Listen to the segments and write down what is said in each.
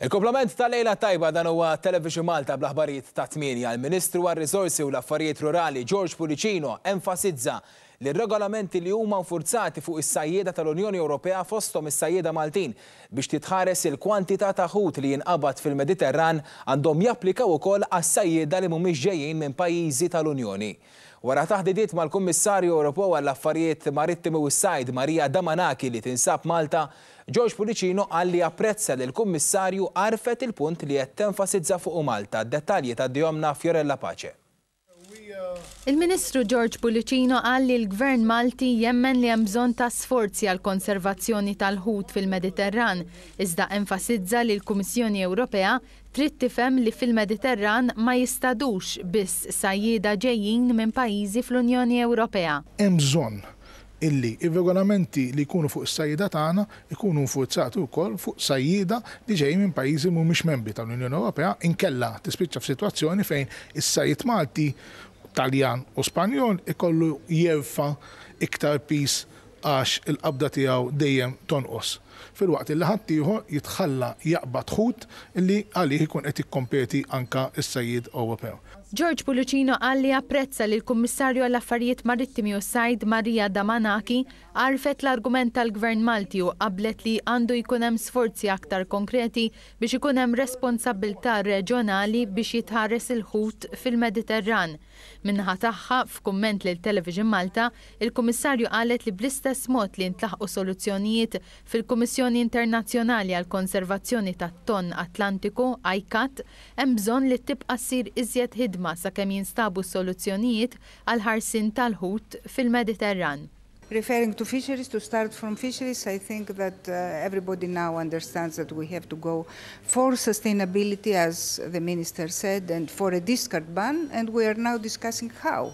Il-kumplament tal-lejla tajba dan huwa Television Malta bl-aħbarijiet ta' 8. Il-Ministru għar-Riżorsi u l-Affarijiet Rurali George Pullicino enfasizza li r-regolamenti li huma nfurzati fuq is-sajjieda tal-Unjoni Ewropea fosthom is-sajjieda Maltin biex titħares il-kwantità ta' ħut li jinqabad fil-Mediterran għandhom japplikaw ukoll għas-sajjieda li mhumiex ġejjin minn pajjiżi tal-Unjoni. Wara taħdidiet mal-Kummissarju Ewropew għall-Affarijiet Marittimi u s-Sajd Maria Damanaki li tinsab Malta, George Pullicino qal li japprezza li l-Kummissarju għarfet il-punt li qed tenfasizza fuqu Malta. Dettalji tgħaddihomlna Fiorella Pace. Il-Ministru George Pullicino qal li l-Gvern Malti jemmen li hemm bżonn ta' sforzi għal konservazzjoni tal-ħut fil-Mediterran, iżda enfasizza li l-Kummissjoni Ewropea trid tifhem li fil-Mediterran ma jistadux biss sajjieda ġejjin minn pajjiżi fl-Unjoni Ewropea. Hemm bżonn illi ir-regolamenti li jkunu fuq is-sajjieda tagħna jkunu nfurzati wkoll fuq sajjieda li ġejjin minn pajjiżi mhumiex membri tal-Unjoni Ewropea inkella tispiċċa f'sitwazzjoni fejn is-sajjied Malti, Taljan u Spanjol ikollu jerfa' iktar piż għax il-qabda tiegħu dejjem tonqos, filwaqt illi ħaddieħor jitħalla jaqbad ħut li għalih ikun qed jikkompeti anke s-sajjied Ewropew. George Pullicino qal li apprezza li l-Kummissarju għall-Affarijiet Marittimi u s-Sajd Maria Damanaki għarfet l-argument tal-Gvern Malti u qablet li għandu jkun hemm sforzi aktar konkreti biex ikun hemm responsabbiltà reġjonali biex jitħares il-ħut fil-Mediterran. Min-naħa tagħha, f'kumment lil Television Malta, il-Kummissarju qalet li bl-istess mod li ntlaħqu soluzzjonijiet fil-Kummissjoni Internazzjonali għall-Konservazzjoni tat-Tonn Atlantiku, ICCAT, hemm bżonn li tibqa' ssir iżjed ħidma sakemm jinstabu soluzzjonijiet għall-ħarsien tal-ħut fil-Mediterran. Referring to fisheries, to start from fisheries, I think that everybody now understands that we have to go for sustainability, as the minister said, and for a discard ban, and we are now discussing how.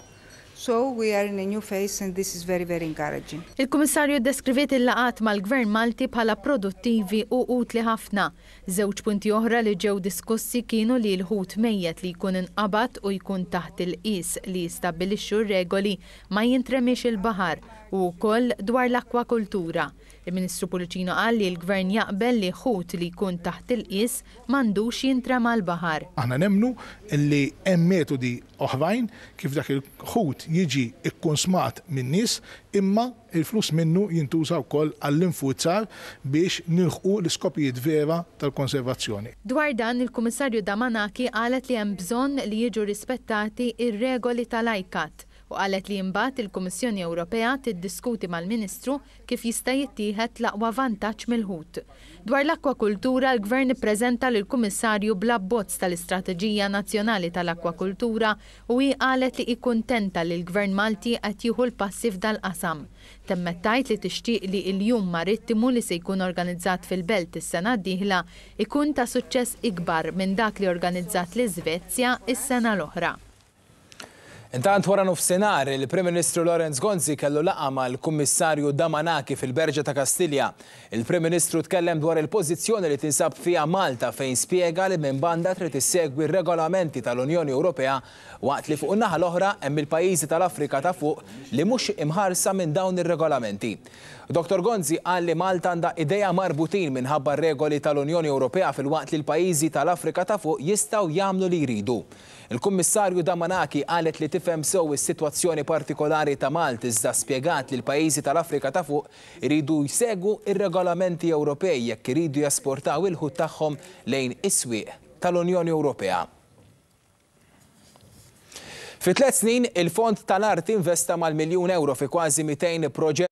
So we are in a new phase and this is very, very encouraging. Il-Kummissarju deskriviet il-laqgħat mal-Gvern Malti bħala produttivi u utli ħafna. Żewġ punti oħra li ġew diskussi kienu li l-ħut mejjet li jkun inqabad u jkun taħt il-qis li jistabbilixxu r-regoli ma jintremiex il-baħar u wkoll dwar l-akwakultura. Il-Ministru Pullicino qal li l-Gvern jaqbel li ħut li jkun taħt il-qis m'għandux jintrema l-baħar. Aħna nemmnu li hemm metodi oħrajn kif dak il-ħut jiġi kkunsmat min-nies imma il-flus minnu jintuża wkoll għall-infurzar biex nilħqu l-iskopijiet vera tal-konservazzjoni. Dwar dan, il-Kummissarju Damanaki qalet li hemm bżonn li jiġu rispettati ir-regoli tal-ICCAT u qalet li imbagħad il-Kummissjoni Ewropea tiddiskuti mal-Ministru kif jista' jittieħed l-aqwa vantaġġ mill-ħut. Dwar l-akwakultura, l-Gvern ippreżenta lill-Kummissarju bl-abbozz tal-Istrateġija Nazzjonali tal-Akwakultura u hi qalet li hi kuntenta li l-Gvern Malti qed jieħu l-passi f'dal-qasam. Temmet tgħid li tixtieq li l-Jum Marittimu li se jkun organizzat fil-Belt is-sena d-dieħla ikun ta' suċċess ikbar minn dak li organizzat l-Iżvezja is-sena l-oħra. Intant wara nofsinhar, il-Prim Ministru Lawrence Gonzi kellu laqgħa mal-Kummissarju Damanaki fil-Berġa ta' Kastilja. Il-Prim Ministru tkellem dwar il-pożizzjoni li tinsab fiha Malta fejn spjega li minn banda trid issegwi r-regolamenti tal-Unjoni Ewropea waqt li fuq in-naħa l-oħra hemm il-pajjiżi tal-Afrika ta' fuq li mhux imħarsa minn dawn ir-regolamenti. Dr. Gonzi qal li Malta għandha idejha marbutin minħabba r-regoli tal-Unjoni Ewropea filwaqt li l-pajjiżi tal-Afrika ta' fuq jistgħu jagħmlu li jridu. Il-Kummissarju Damanaki qalet li tifhem sew is-sitwazzjoni partikolari ta' Malta iżda spjegat li l-pajjiżi tal-Afrika ta' fuq iridu jsegwu ir-regolamenti Ewropej jekk iridu jesportaw il-ħut tagħhom lejn is-swieq tal-Unjoni Ewropea. Fi 3 snin, il-Fond tal-Arti investa mal-€1 miljun fi kważi 200 proġett.